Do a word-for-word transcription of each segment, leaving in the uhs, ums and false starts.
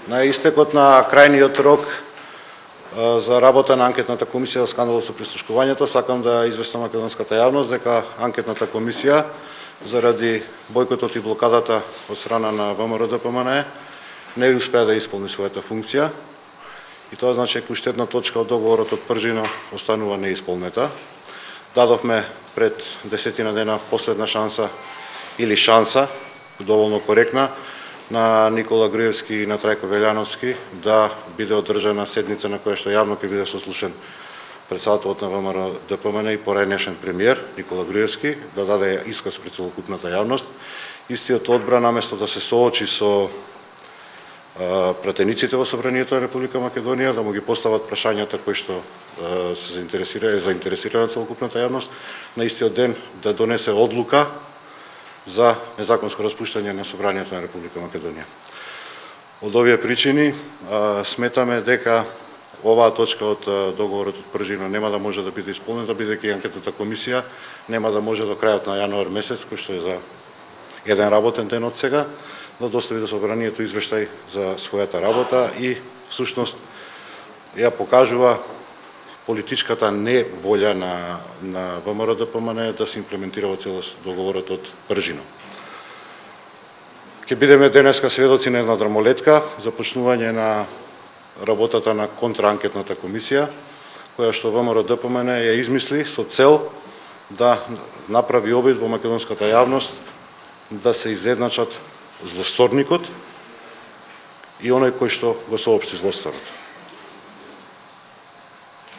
На истекот на крајниот рок за работа на анкетната комисија за скандалот со прислушкувањето, сакам да известам македонската јавност дека анкетната комисија заради бојкотот и блокадата од страна на ВМРО-ДПМНЕ не успеа да исполни својата функција и тоа значи дека уште една точка од договорот од Пржино останува неисполнета. Дадовме пред десетина дена последна шанса или шанса, доволно коректна, на Никола Груевски и на Трајко Велјановски да биде одржана седница на која што јавно ќе биде сослушен председателот на ВМРО-ДПМНЕ и порајнешен премиер Никола Груевски, да даде исказ пред целокупната јавност. Истиот одбра наместо да се соочи со а, пратениците во Собранието на Република Македонија, да му ги постават прашањата кои што а, се заинтересира, е заинтересирана целокупната јавност, на истиот ден да донесе одлука за незаконско распуштање на Собранието на Република Македонија. Од овие причини а, сметаме дека оваа точка од а, договорот од Пржино нема да може да биде исполнета, бидејќи анкетната комисија нема да може до крајот на јануар месец, кој што е за еден работен ден од сега, да достави до Собранието извештај за својата работа и всушност ја покажува политичката неволја на, на ВМРО-ДПМНЕ да се имплементира во целост договорот од Пржино. Ке бидеме денеска сведоци на една драмолетка, започнување на работата на контраанкетната комисија, која што ВМРО-ДПМНЕ ја измисли со цел да направи обид во македонската јавност да се изедначат злосторникот и оној кој што го соопшти злосторот.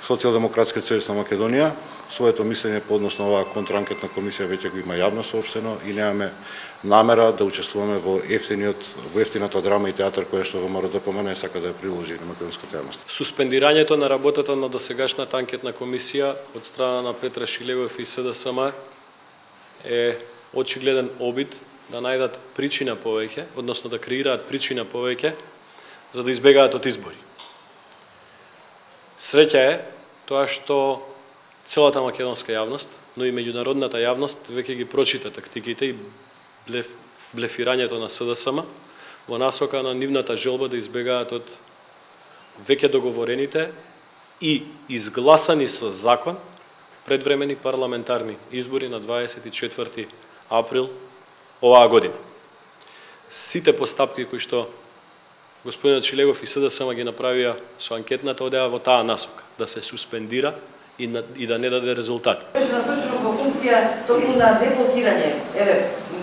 Социјалдемократскиот сојуз на Македонија своето мислење по однос на оваа контраанкетна комисија веќе го има јавно соопштено и немаме намера да учествуваме во ефтиниот во ефтината драма и театар која што ВМРО-ДПМНЕ сака да ја приложи на македонската јавност. Суспендирањето на работата на досегашната анкетна комисија од страна на Петра Шилегов и СДСМ е очигледен обид да најдат причина повеќе, односно да креираат причина повеќе за да избегаат од избори. Среќа е тоа што целата македонска јавност, но и меѓународната јавност веќе ги прочита тактиките и блеф, блефирањето на СДСМ во насока на нивната желба да избегаат од веќе договорените и изгласани со закон предвремени парламентарни избори на дваесет и четврти април оваа година. Сите постапки кои што господинот Шилегов и СДСМ ги направија со анкетната одеа во таа насока, да се суспендира и, на, и да не даде резултати. Беше насочено во функција токму на деблокирање. Еве,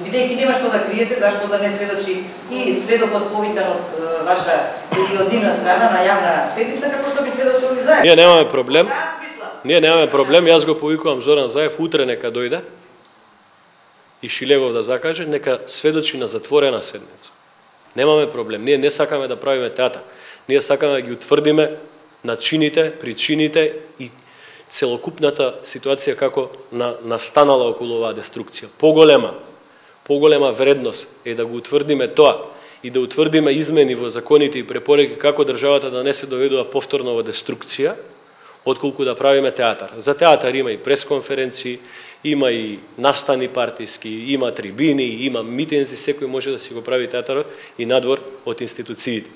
бидејќи нема што да криете, зашто да не сведочи и сведокот повикан од ваша или од нивна страна на јавна седница, како што би сведочили заедно. Ние немаме проблем. Ние немаме проблем, јас го повикувам Зоран Заев, утре нека дојде и Шилегов да закаже, нека сведочи на затворена седница. Немаме проблем. Ние не сакаме да правиме театар. Ние сакаме да ги утврдиме начините, причините и целокупната ситуација како на, настанала околу оваа деструкција. Поголема, поголема вредност е да го утврдиме тоа и да утврдиме измени во законите и препораки како државата да не се доведува повторно во деструкција, отколку да правиме театар. За театар има и пресконференции, има и настани партиски, има трибини, има митинзи, секој може да си го прави театарот и надвор од институциите.